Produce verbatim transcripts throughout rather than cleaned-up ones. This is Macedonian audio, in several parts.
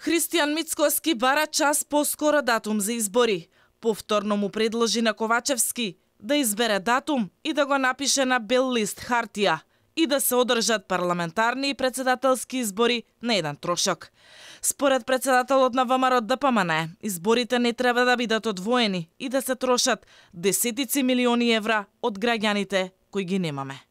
Христијан Мицкоски бара час поскоро датум за избори. Повторно му предложи на Ковачевски да избере датум и да го напише на бел лист хартија и да се одржат парламентарни и председателски избори на еден трошок. Според председателот на ВМРО Д П М Н, изборите не треба да бидат одвоени и да се трошат десетици милиони евра од граѓаните кои ги немаме.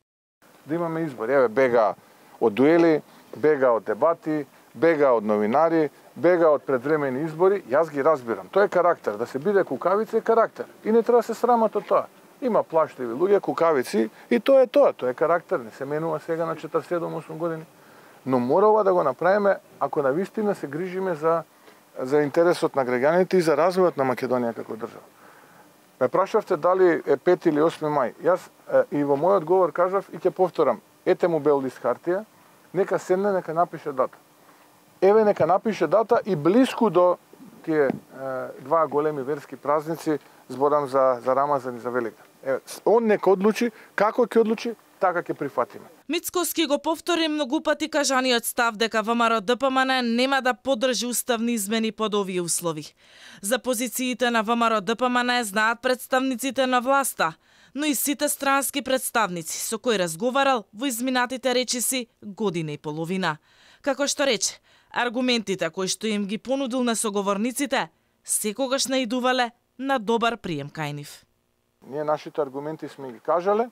Да имаме избори, еве бега од дуели, бега од дебати, бега од новинари, бега од предвремени избори, јас ги разбирам. Тоа е карактер, да се биде кукавица е карактер. И не треба да се срамат од тоа. Има плаштливи луѓе, кукавици и тоа е тоа, тоа е карактер, не се менува сега на четиридесет и седум осум години. Но мора ова да го направиме ако навистина се грижиме за за интересот на граѓаните и за развојот на Македонија како држава. Ме прашавте дали е пети или осми мај. Јас е, и во мојот одговор кажав и ќе повторам, ете му бел лист хартија, нека седне, нека напише дата. Еве нека напише дата и блиску до тие е, два големи верски празници, зборам за за Рамазан и за Великден. Еве, он нека одлучи, како ќе одлучи, така ќе прифатиме. Мицкоски го повтори многу пати кажаниот став дека ВМРО Д П М Н нема да поддржи уставни измени под овие услови. За позициите на ВМРО Д П М Н знаат представниците на власта, но и сите странски представници со кои разговарал во изминатите речиси година и половина. Како што рече, аргументите кои што им ги понудил на соговорниците секогаш наидувале на добар прием кај нив. Ние нашите аргументи сме ги кажале,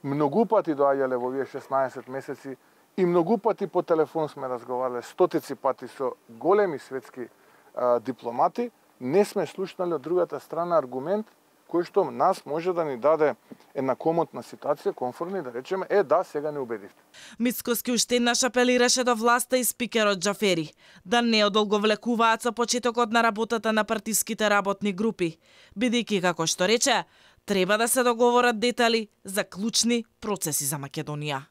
многу пати доаѓале во овие шеснаесет месеци и многу пати по телефон сме разговарале, стотици пати со големи светски а, дипломати, не сме слушнали од другата страна аргумент кој што нас може да ни даде една комотна ситуација, комфортна и да речеме, е да, сега не убедивте. Мицкоски уште еднаш апелираше до власта и спикерот Џафери да не одолговлекуваат со почетокот на работата на партиските работни групи, бидејќи, како што рече, треба да се договорат детали за клучни процеси за Македонија.